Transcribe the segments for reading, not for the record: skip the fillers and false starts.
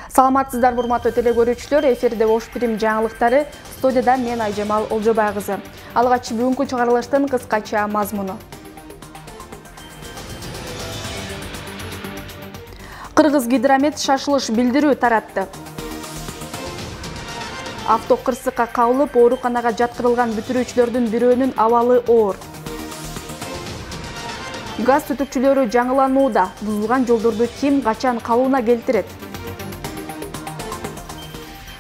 Саламатсыздар урматтуу теле көрүүчүлөр, эфирде Ош Прим жаңылыктары, студияда мен Айжамал Олжобай кызы. Алгач бүгүнкү чыгарылыштын кыскача мазмуну. Кыргызгидромет шашылыш билдирүү таратты. Автокырсыкка кабылып, ооруканага жаткырылган бүтүрүүчүлөрдүн бирөөнүн абалы оор. Газ түтүкчүлөрү жаңыланууда. Бузулган жолдорду ким качан калыбына келтирет?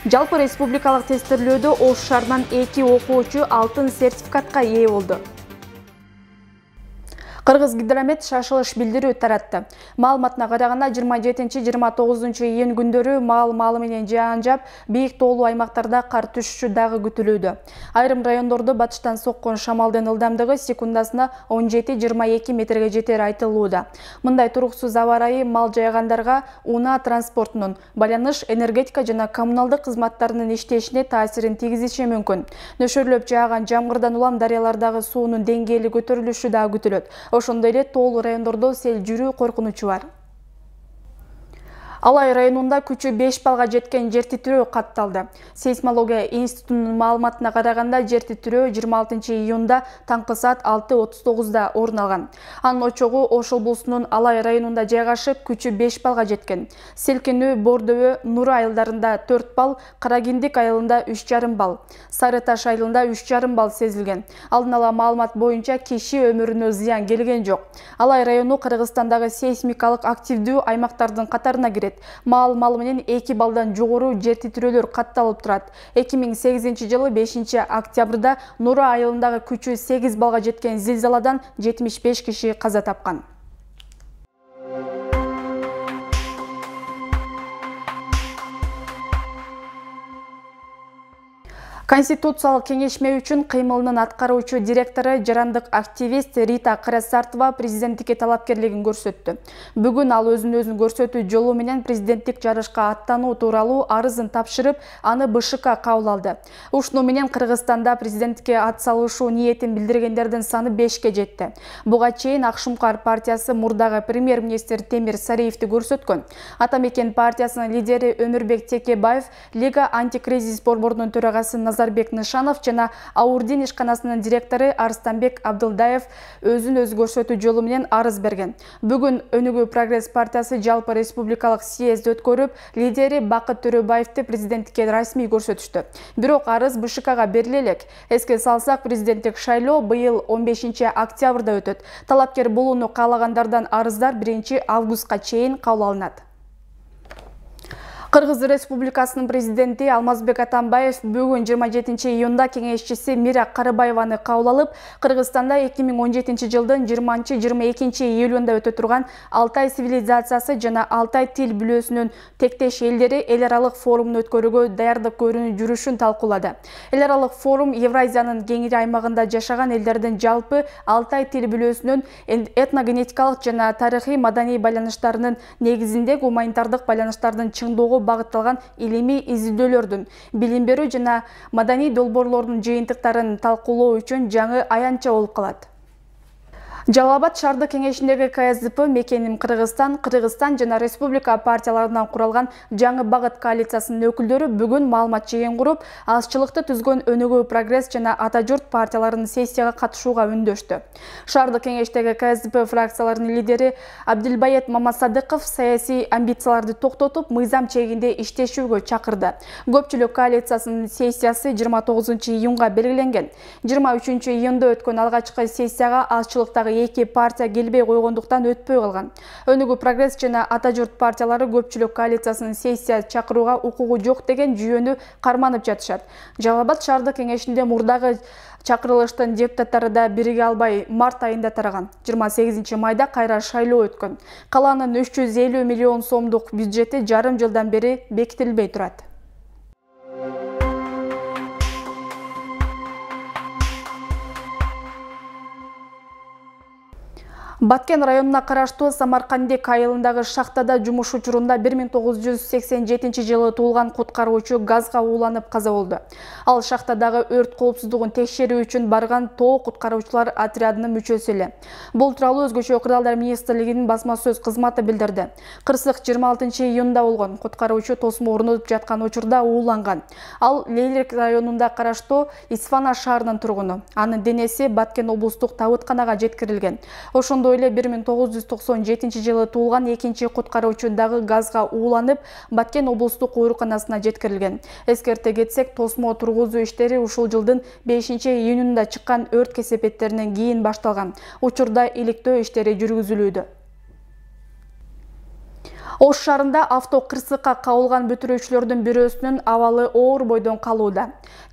Жалпы республикалык тестирлөөдө Ош шаарынан 2 окуучу алтын сертификатка ээ болду. Кыргызгидромет шашылыш билдирүү таратты. Маалыматына караганда 27-29 июнь күндөрү маал менен жаан жаап, бийик тоолуу аймактарда кар түшүшү дагы күтүлүүдө. Айрым райондордо батыштан соккон шамалдын ылдамдыгы секундасына 17-22 метрге жетери айтылууда. Мындай туруксуз аба ырайы мал жайгандарга унаа транспортунун, байланыш, энергетика жана коммуналдык кызматтарынын иштешине таасирин тийгизиши мүмкүн. Нөшөрлөп жааган жамгырдан улам дарыялардагы суунун деңгээли көтөрүлүшү да күтүлөт. Ошондой эле тоолуу райондордо сел жүрүү коркунучу бар. Алай районунда күчү 5 балга жеткен жер титирөө катталды. Сейсмология институтунун маалыматына караганда жер титирөө 26 июнда таңкы саат 6:39 орун алган. Анын очогу Ош облусунун Алай районунда жайгашып, күчү 5 балга жеткен. Селкинүү Бордөбө, Нура айылдарында 4 бал, Карагиндик айылында 3,5 бал, Сары Таш айылында 3,5 бал сезилген. Алдын ала маалымат боюнча киши өмүрүнө зыян келген жок. Алай району Кыргызстандагы сейсмикалык активдүү аймактардын катарына кирет. Маал менен 2 балдан жогору жер титирөөлөр катталып турат. 2008 жылы 5 октябрда Нура айылындагы күчү 8 балга жеткен зилзаладан 75 киши каза тапкан. Конституциялык кеңешме үчүн кыймылынын аткаруучу директору жарандык активист Рита Карасартова президенттикке талапкерлигин көрсөттү. Бүгүн ал өзүн көрсөтүү жолу менен президенттик жарышка аттануу тууралуу арызын тапшырып, аны БШК кабыл алды. Ушуну менен Кыргызстанда президенттикке ат салышуу ниетин билдиргендердин саны 5ке жетти. Буга чейин Акшумкар партиясы мурдагы премьер-министр Темир Сариевди көрсөткөн. Атамекен партиясынын лидери Өмүрбек Текебаев, Лига антикризис борборунун төрагасы Назарбек Нышанов жана Аурдин ишканасынын директору Арстанбек Абдылдаев өзүн көрсөтүү жолу менен арыз берген. Бүгүн Өнүгүү Прогресс партиясы жалпы республикалык съезд өткөрүп, лидери Бакыт Төрөбаевди президенттикке расмий көрсөтүштү. Бирок арыз БШКга бериле элек. Эске салсак, президенттик шайлоо быйыл 15 октябрда өтөт. Талапкер болууну каалагандардан арыздар 1 августка чейин кабыл алынат. Кыргыз Республикасынын президенти Алмазбек Атамбаев бүгүн 27 июнда кеңешчиси Мира Карыбаеваны кабыл алып, Кыргызстанда 2017 жылдын 20-22 июлунда өтө турган Алтай цивилизациясы жана Алтай тил бүлөөсүнүн тектеш элдери эл аралык форумун өткөрүүгө даярдык көрүүнү жүрүшүн талкуулады. Эл аралык форум Евразиянын кеңири аймагында жашаган элдердин жалпы Алтай тил бүлөөсүнүн этногенетикалык жана тарыхый маданий байланыштарынын негизинде гуманитардык байланыштардын чыңдоого багытталган илимий изилдөөлөрдүн, билим берүү жана маданий долбоорлордун жыйынтыктарын талкуулоо үчүн жаңы аянтча болуп калат. Жалал Абад шаардык кеңешиндеги КСДП Мекеним Кыргызстан жана республика партияларынан куралган жаңы багыт коалициясынын өкүлдөрү бүгүн маалымат жыйын куруп, азчылыкты түзгөн Өнүгүү Прогресс жана Ата журт партияларынын сессияга катышууга үндөштү. Шаардык кеңештеги КСДП фракцияларынын лидери Абдилбает Мамасадыков саясий амбицияларды токтотуп, мыйзам чегинде иштешүүгө чакырды. Көпчүлүк коалициясынын сессиясы 29 июнга белгиленген. 23 июнда өткөн алгачкы сессияга азчылыктагы 2 партия келбей койгондуктан өтпөй калган. Өнүгүү Прогресс жана Ата журт партиялары көпчүлүк коалициясынын сессия чакырууга укугу жок деген жүйөнү карманып жатышат. Жалал Абад шаардык кеңешинде мурдагы чакырылыштын депутаттары да бириге албай март айында тараган. 28 майда кайра шайлоо өткөн. Калаанын 350 миллион сомдук бюджети жарым жылдан бери бекитилбей турат. Баткен районуна караштуу Самаркандек айылындагы шахтада жумуш учурунда 1987 жылы туулган куткаруучу газга ууланып каза болду. Ал шахтадагы өрт коопсуздугун текшерүү үчүн барган тоо куткаруучулар отрядынын мүчөсү эле. Бул тууралуу Өзгөчө окуялар министрлигинин басма сөз кызматы билдирди. Кырсык 26 июнда болгон. Куткаруучу тосмо орнотуп жаткан учурда ууланган. Ал Лейлек районунда караштуу Исфана шаарынын тургуну. Анын денеси Баткен облустук табытканага жеткирилген. Ошондой эле 1997 жылы туулган экинчи куткаруучу дагы газга ууланып, Баткен облустук ооруканасына жеткирилген. Эскерте кетсек, тосмо тургузуу иштери ушул жылдын 5 июнунда чыккан өрт кесепеттеринен кийин башталган. Учурда иликтөө иштери жүргүзүлүүдө. Ош шаарында авто кырсыкка кабылган бүтүрүүчүлөрдүн бирөөсүнүн абалы оор бойдон калууда.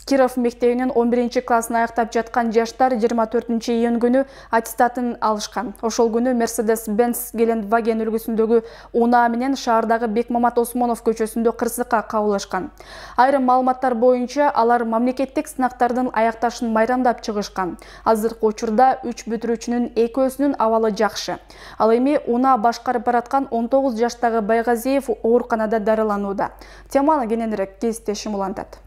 Киров мектебинин 11 классын аяктап жаткан жаштар 24 июнь күнү аттестатын алышкан. Ошол күнү Mercedes-Benz Gelandwagen үлгүсүндөгү унаа менен шаардагы Бекмамат Осмонов көчөсүндө кырсыкка кабылышкан. Айрым маалыматтар боюнча алар мамлекеттик сынактардын аякташын майрамдап чыгышкан. Азыркы учурда 3 бүтүрүүчүнүн экөөсүнүн абалы жакшы. Ал эми унаа башкарып бараткан 19 жаштагы Байгазиев ооруканада дарыланууда. Теманы кененирээк кесиптешим улантат.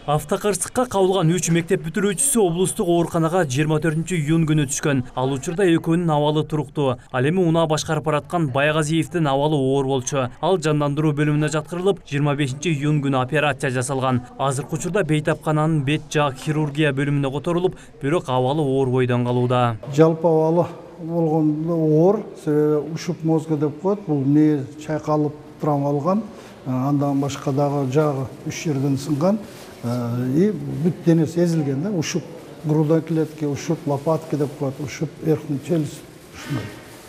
Автокырсыкка кабылган 3 мектеп бүтүрүүчүсү облустук ооруканага 24 июнь күнү түшкөн. Ал учурда экөөнүн абалы туруктуу. Ал эми унаа башкарып бараткан Байгазиевдин абалы оор болчу. Ал жандандыруу бөлүмүнө жаткырылып, 25 июнь күнү операция жасалган. Азыркы учурда бейтапкананын бет жаак хирургия бөлүмүнө которулуп, бирок абалы оор бойдон калууда. Жалпы абалы болгондо оор, ушуп мозга деп коет. Бул мээ чайкалып травмалган. Андан башка дагы жагы 3 жерден сынган. И бүт денеси эзилген да, ушуп грудной клетки, ушуп лопатки деп коет, ушуп верхний челюсть.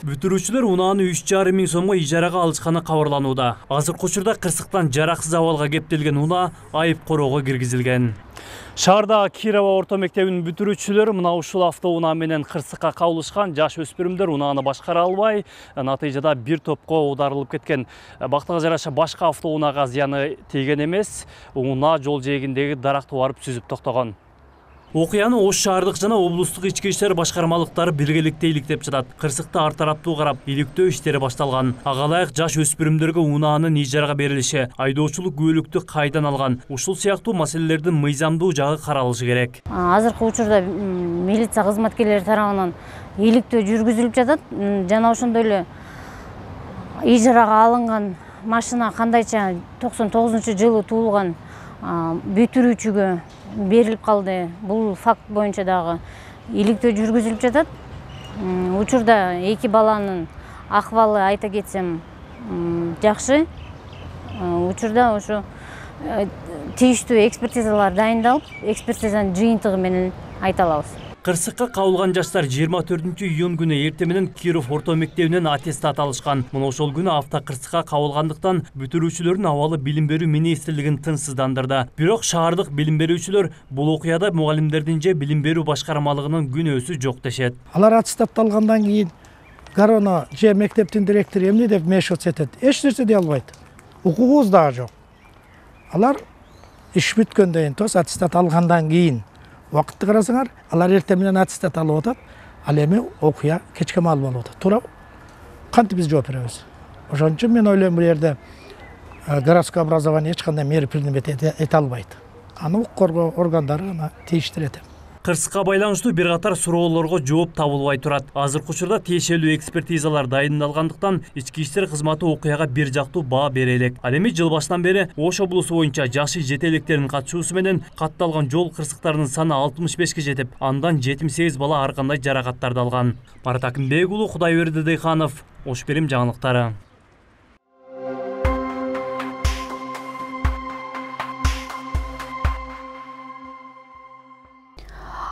Бүтүрүүчүлөр унааны 3,5 миң сомго ижарага алышканы кабарланууда. Азыркы учурда кырсыктан жараксыз абалга кептелген унаа айып короого киргизилген. Шаарда Кирова орто мектебинин бүтүрүүчүлөрү мына ушул автоунаа менен кырсыкка кабылышкан. Жаш өспүрүмдөр унааны башкара албай, натыйжада бир топко аударылып кеткен. Бактыга жараша башка автоунаага зыяны тийген эмес. Унаа жол жээгиндеги даракты барып сүзүп токтогон. Окуяны Ош шаардык жана облустук ички иштер башкармалыктары биргеликте иликтеп жатат. Кырсыкты ар тараптуу карап, иликтөө иштери башталган. Ага ылайык жаш өспүрүмдөргө унаанын ижарага берилиши, айдоочулук күбөлүктү кайдан алган, ушул сыяктуу маселелердин мыйзамдуу жагы каралышы керек. Азыркы учурда милиция кызматкерлери тарабынан иликтөө жүргүзүлүп жатат. Жана ошондой эле ижарага алынган машина кандайча 99-жылы туулган бүтүрүүчүгө берилип калды. Бул факт боюнча дагы иликтөө жүргүзүлүп жатат. Учурда эки баланын акыбалы айта кетсем жакшы. Учурда ошо тийиштүү экспертизалар дайындалып, экспертизанын жыйынтыгы менен айта алабыз. Кырсыкка кабылган жаштар 24 июнь күнү эртең менен Киров орто мектебинен аттестат алышкан. Мына ошол күнү автокырсыкка кабылгандыктан бүтүрүүчүлөрдүн абалы билим берүү министрлигин тынчсыздандырды. Бирок шаардык билим берүүчүлөр бул окуяда мугалимдердин же билим берүү башкармалыгынын күнөөсү жок дешет. Алар аттестат алгандан кийин Гарона же мектептин директору эмне деп мешот этет? Эч нерсе дей албайт. Укугубуз дагы жок. Алар иш бүткөндөн кийин тос аттестат алгандан кийин вакытты карасаңар, алар эртең менен аттестат алып атат, ал эми окуя кечке маал болуп атат. Туура кантип биз жооп беребиз? Ошон үчүн мен ойлойм, бул жерде городское образование эч кандай мера принимать эте албайт. Аны укук коргоо органдары гана тийиштире этет. Кырсыкка байланыштуу бир катар суроолорго жооп табылбай турат. Азыркы учурда тиешелүү экспертизалар дайындалгандыктан ички иштер кызматы окуяга бир жактуу баа бере элек. Ал эми жыл башынан бери Ош облусу боюнча жашы жете электердин катышуусу менен катталган жол кырсыктарынын саны 65 жетип, андан 78 бала ар кандай жаракаттарды алган. Марат Акимбек уулу, Кудайберди Дыйханов, Ош Берим жаңылыктары.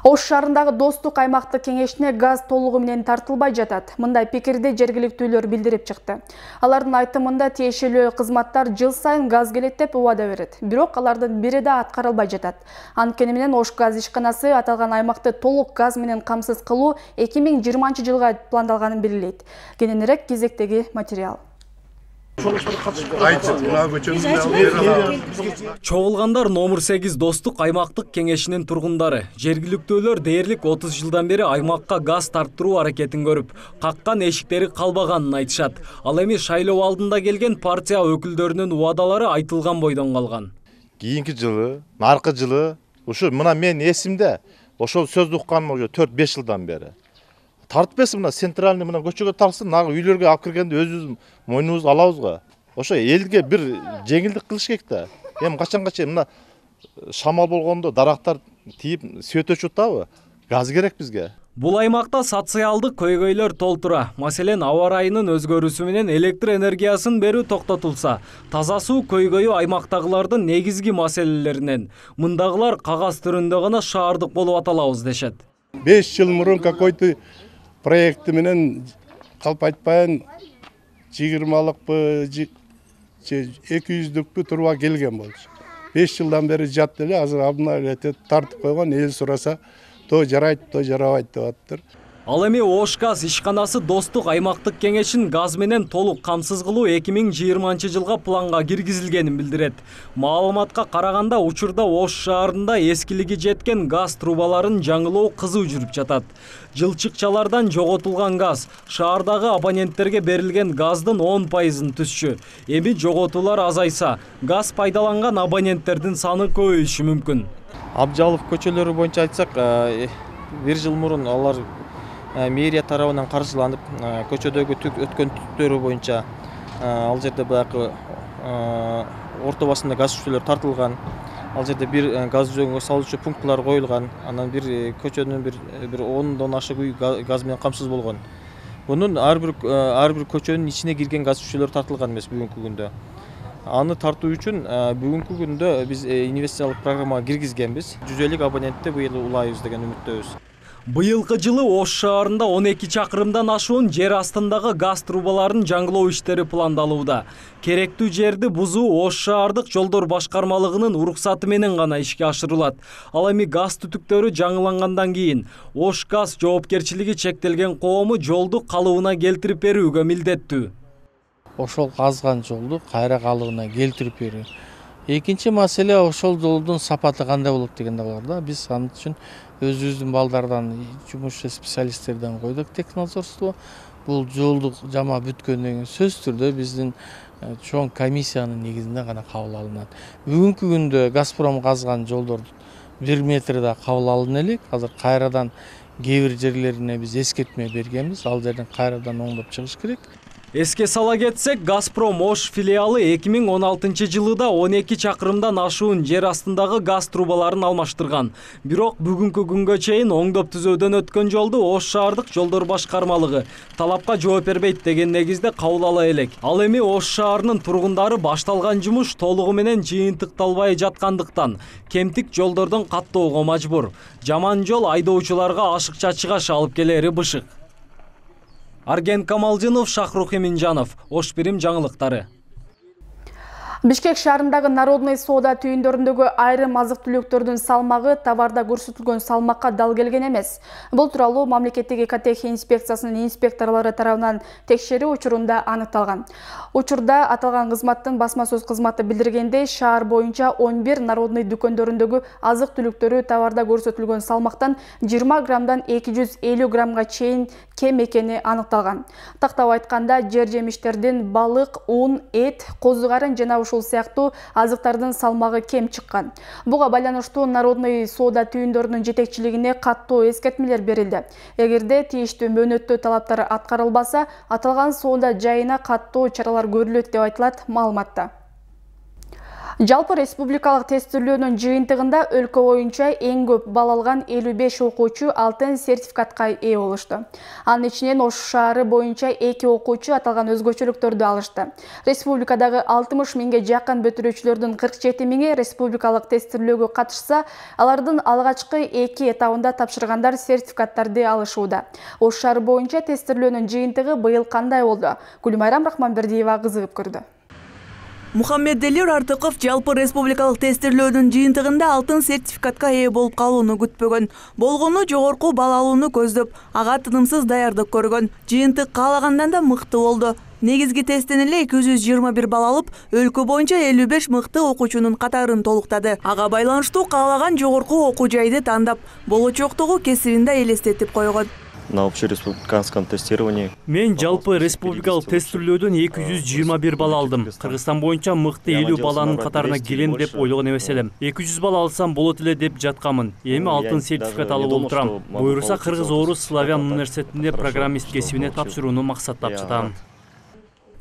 Ош шаарындагы Достук аймактык кеңешине газ толугу менен тартылбай жатат. Мындай пикирди жергиликтүүлөр билдирип чыкты. Алардын айтымында тиешелүү кызматтар жыл сайын газ келет деп убада берет. Бирок алардын бири да аткарылбай жатат. Анткени менен Ош газ ишканасы аталган аймакты толук газ менен камсыз кылуу 2020 жылга пландалганын белгилейт. Кененирээк кезектеги материал. Чогулгандар номер 8 достук аймактык кеңешинин тургундары. Жергиликтүүлөр дээрлик 30 жылдан бери аймакка газ тарттыруу аракетин көрүп, каккан эшиктери калбаганын айтышат. Ал эми шайлоо алдында келген партия өкүлдөрүнүн убадалары айтылган бойдон калган. Кийинки жылы, наркы жылы, ушу мына мен эсимде, ошол сөздү укканым уже 4-5 жылдан бери. Тартпеси мына центральный мына көчөгө тарсын, нагы үйлөргө алып киргенде өзүбүз мойнубузду алабызга. Ошо элге бир жеңилдик кылыш керек да. Эми качанга чейин мына шамал болгондо дарактар тийип свет өчүп атабы? Газ керек бизге. Бул аймакта социалдык көйгөйлөр толтура. Маселен, аба ырайынын өзгөрүүсү менен электр энергиясын берүү токтотулса, таза суу көйгөйү аймактагылардын негизги маселелеринен. Мындагылар кагаз түрүндө гана шаардык болуп аталабыз дешет. 5 жыл мурун какой-то проекти менен калп айтпайын 20-лыкпы, 200-дүкпү турба келген болчу. 5 жылдан бери жатты эле, азыр абына тартып койгон, эл сураса, то жарайт, то жарабайт деп атыптыр. Ал эми Ош газ ишканасы достук аймактык кеңешин газ менен толук камсыз кылуу 2020 жылга планга киргизилгенин билдирет. Маалыматка караганда учурда Ош шаарында эскилиги жеткен газ трубаларын жаңылоо кызуу жүрүп жатат. Жылчыкчалардан жоготулган газ шаардагы абоненттерге берилген газдын 10%-ын түзчү. Эми жоготуулар азайса, газ пайдаланган абоненттердин саны көбөйүшү мүмкүн. Абжалов көчөлөрү боюнча айтсак, 1 жыл мурун алар мэрия тарабынан каржыланып, көчөдөгү өткөн түтүктөрү боюнча ал жерде баягы орто басында газ түтүктөр тартылган. Ал жерде бир газ жөнгө салуучу пунктлар коюлган. Анан бир көчөнүн бир 10дон ашык үй газ менен камсыз болгон. Бунун ар бир көчөнүн ичине кирген газ түтүктөр тартылган эмес бүгүнкү күндө. Аны тартуу үчүн бүгүнкү күндө биз инвестициялык программага киргизгенбиз. 150 абонентти быйыл улайбыз деген үмүттөбүз. Быйылкы жылы Ош шаарында 12 чакырымдан ашуун жер астындагы газ трубаларын жаңылоо иштери пландалууда. Керектүү жерди бузуу Ош шаардык жолдор башкармалыгынын уруксаты менен гана ишке ашырылат. Ал эми газ түтүктөрү жаңылангандан кийин Ош газ жоопкерчилиги чектелген коому жолду калыбына келтирип берүүгө милдеттүү. Ошол казган жолду кайра калыбына келтирип берүү. Экинчи маселе ошол жолдун сапаты кандай болот дегенде бар да. Биз ал үчүн өзүбүздүн балдардан, жумушчу специалисттерден койдук технадзорство. Бул жолду жама бүткөндөн кийин сөзсүз түрдө биздин чоң комиссиянын негизинде гана кабыл алынат. Бүгүнкү күндө Газпром казган жолдор 1 метрде кабыл алына элек. Азыр кайрадан кээ бир жерлерине биз эскертме бергенбиз. Ал жерден кайрадан оңдоп чыгыш керек. Эске сала кетсек, Газпром Ош филиалы 2016 жылыда 12 чакырымдан ашуун жер астындагы газ трубаларын алмаштырган. Бирок бүгүнкү күнгө чейин оңдоп түзөөдөн өткөн жолду Ош шаардык жолдор башкармалыгы талапка жооп бербейт деген негизде кабыл ала элек. Ал эми Ош шаарынын тургундары башталган жумуш толугу менен жыйынтыкталбай жаткандыктан кемтик жолдордон каттоого мажбур. Жаман жол айдоочуларга ашыкча чыгаш алып келери бышык. Арген Камалжынов, Шахрух Эминжанов, Ош Бирим жаңылыктары. Бишкек шаарындагы Народный соода түйүндөрүндөгү айрым азык-түлүктөрдүн салмагы товарда көрсөтүлгөн салмакка дал келген эмес. Бул тууралуу мамлекеттик экотехния инспекциясынын инспекторлору тарабынан текшерүү учурунда аныкталган. Учурда аталган кызматтын басма сөз кызматы билдиргендей, шаар боюнча 11 Народный дүкөндөрүндөгү азык-түлүктөрү товарда көрсөтүлгөн салмактан 20 граммдан 250 граммга чейин кем экени аныкталган. Тактап айтканда, жер жемиштердин, балык, ун, эт, козу карын жана ушул сыяктуу азыктардын салмагы кем чыккан. Буга байланыштуу Народный соода түйүндөрүнүн жетекчилигине каттуу эскертмелер берилди. Эгерде тийиштүү мөөнөттүү талаптар аткарылбаса, аталган соода жайына каттуу чаралар көрүлөт деп айтылат маалыматта. Жалпы республикалык тестилөөнүн жыйынтыгында өлкө боюнча эң көп балл алган 55 окуучу алтын сертификатка ээ болушту. Анын ичинен Ош шаары боюнча 2 окуучу аталган өзгөчөлүктөрдү алышты. Республикадагы 60 миңге жакын бүтүрүүчүлөрдүн 47 миңи республикалык тестилөөгө катышса, алардын алгачкы 2 этабында тапшыргандар сертификаттарды алышууда. Ош шаары боюнча тестилөөнүн жыйынтыгы быйыл кандай болду? Гүлмайрам Рахманбердиева кызыгып көрдү. Мухаммедели Артыков жалпы республикалык тестирлөөнүн жыйынтыгында алтын сертификатка ээ болуп калууну күтпөгөн. Болгону жогорку балл алууну көздөп, ага тынымсыз даярдык көргөн. Жыйынтык каалагандан да мыкты болду. Негизги тесттен эле 221 балл алып, өлкө боюнча 55 мыкты окуучунун катарын толуктады. Ага байланыштуу каалаган жогорку окуу жайды тандап, болочоктогу кесибин да элестетип койгон. На общереспубликанском тестировании. Мен жалпы республикалык тестирлөөдөн 221 балл алдым. Кыргызстан боюнча мыкты 50 баланын катарына келем деп ойлогон эмес элем. 200 балл алсам болот эле деп жаткамын. Эми алтын сертификат алып олтурам. Буюрса Кыргыз Орус Славян университетинде программист кесибине тапшырууну максаттап жатам.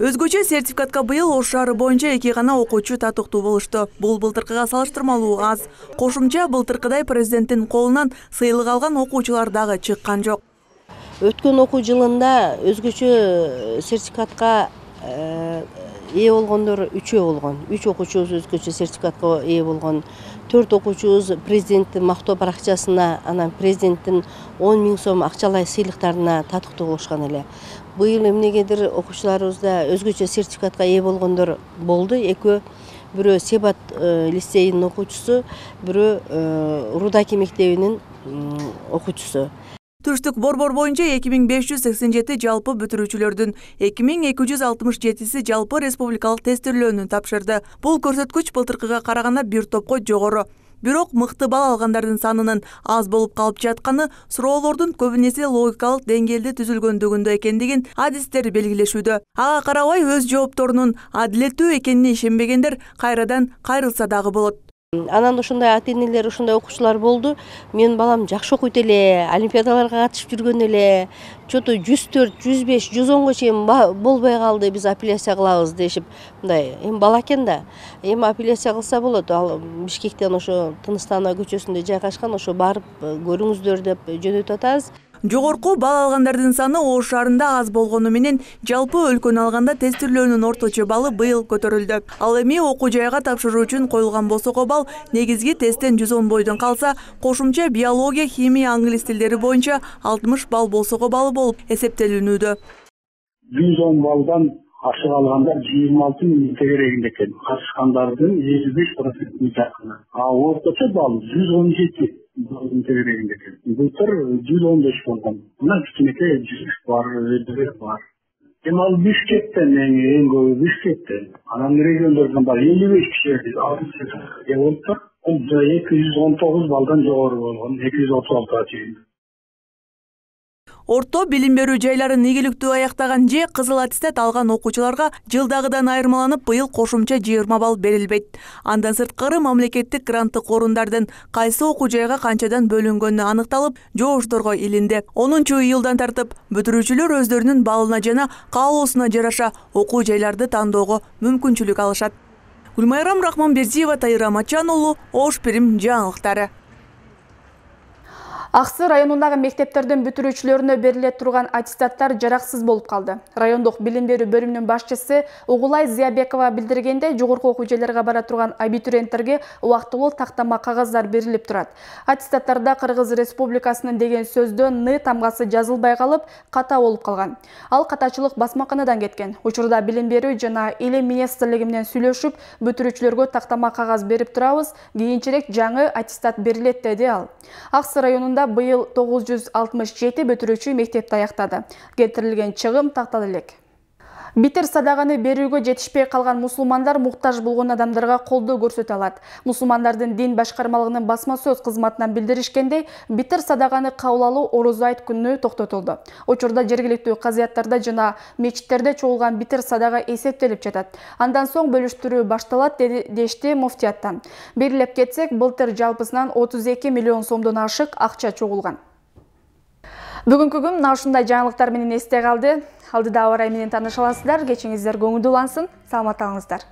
Өзгөчө сертификатка быйыл Ош шаары боюнча 2 гана окуучу татыктуу болушту. Бул былтыркыга салыштырмалуу аз. Кошумча былтыркыдай президенттин колунан сыйлык алган окуучулар дагы чыккан жок. Өткөн окуу жылында өзгөчө сертификатка ээ болгондор 3 болгон. 3 окуучубуз өзгөчө сертификатка ээ болгон. 4 окуучубуз президенттин мактоо баракчасына, анан президенттин 10 000 сом акчалай сыйлыктарына татыктуу болушкан эле. Быйыл эмнегедир окуучуларыбызда өзгөчө сертификатка ээ болгондор болду. Экөө бирөө Себат лицейинин окуучусу, бирөө Рудаки мектебинин окуучусу. Түштүк борбор боюнча 2587 жалпы бүтүрүүчүлөрдүн 2267си жалпы республикалык тестирлөөнү тапшырды. Бул көрсөткүч былтыркыга караганда бир топко жогору. Бирок мыкты балл алгандардын санынын аз болуп калып жатканы суроолордун көбүнесе логикалык деңгээлде түзүлгөндүгүндө экендигин адистер белгилешүүдө. Ага карабай өз жоопторунун адилеттүү экенине ишенбегендер кайрадан кайрылса дагы болот. Анан ошондой ата-энелер, ошондой окуучулар болду. Менин балам жакшы окуйт эле, олимпиадаларга катышып жүргөн эле. Чоту 104, 105, 110го чейин болбой калды, биз апелляция кылабыз дешип. Мындай, эми бала экен да. Эми апелляция кылса болот. Ал Бишкектен ошо Тыныстанова көчөсүндө жайгашкан, ошо барып көрүңүздөр деп жөнөтүп атабыз. Жогорку балл алгандардын саны Ош шаарында аз болгону менен жалпы өлкөнү алганда тестирлөөнүн орточо баллы быйыл көтөрүлдү. Ал эми окуу жайга тапшыруу үчүн коюлган босого балл негизги тесттен 110 бойдон калса, кошумча биология, химия, англис тилдери боюнча 60 балл босого баллы болуп эсептелинүүдө. 110 баллдан ашык алгандар 26 000 тегерегинде экен. Катышкандардын 55% жакыны. Орточо балл 117 тегерегинде экен. Былтыр 115 болгон. Мына кичинекей 100 бар, бар. Эми ал Бишкектен, эң көбү Бишкектен. Анан региондордон бар 55 киши болуптур. Бул 219 баллдан жогору болгон, 236 чейин. Орто билим берүү жайларын ийгиликтүү аяктаган же кызыл аттестат алган окуучуларга жылдагыдан айырмаланып быйыл кошумча 20 балл берилбейт. Андан сырткары мамлекеттик гранттык орундардын кайсы окуу жайга канчадан бөлүнгөнү аныкталып, жоошторго илинди. 10-июлдан тартып бүтүрүүчүлөр өздөрүнүн баллына жана каалоосуна жараша окуу жайларды тандоого мүмкүнчүлүк алышат. Гүлмайрам Рахманбердиева, Тайра Мачан уулу, Ош Пирим жаңылыктары. Аксы районундагы мектептердин бүтүрүүчүлөрүнө бериле турган аттестаттар жараксыз болуп калды. Райондук билим берүү бөлүмүнүн башчысы Угулай Зиябекова билдиргенде, жогорку окуу жайларга бара турган абитуриенттерге убактылуу тактама кагаздар берилип турат. Аттестаттарда Кыргыз Республикасынын деген сөздөн Н тамгасы жазылбай калып, ката болуп калган. Ал катачылык басмаканадан кеткен. Учурда билим берүү жана илим министрлиги менен сүйлөшүп, бүтүрүүчүлөргө тактама кагаз берип турабыз, кийинчерээк жаңы аттестат берилет деди ал. Аксы районунда быйыл 967 бүтүрүүчү мектепти аяктады. Келтирилген чыгым такталып элек. Битир садаганы берүүгө жетишпей калган мусулмандар муктаж болгон адамдарга колдоо көрсөтө алат. Мусулмандардын дин башкармалыгынын басма сөз кызматынан билдиришкендей, битир садаганы кабыл алуу Орозо айт күнүнө токтотулду. Учурда жергиликтүү казыяттарда жана мечиттерде чогулган битир садага эсептелип жатат. Андан соң бөлүштүрүү башталат дешти муфтияттан. Белгилеп кетсек, былтыр жалпысынан 32 миллион сомдон ашык акча чогулган. Бүгүнкү күн ушундай жаңылыктар менен эсте калды. Алдыда ауа райы менен тааныша аласыздар. Кечиңиздер көңүлдүү улансын. Саламат калыңыздар.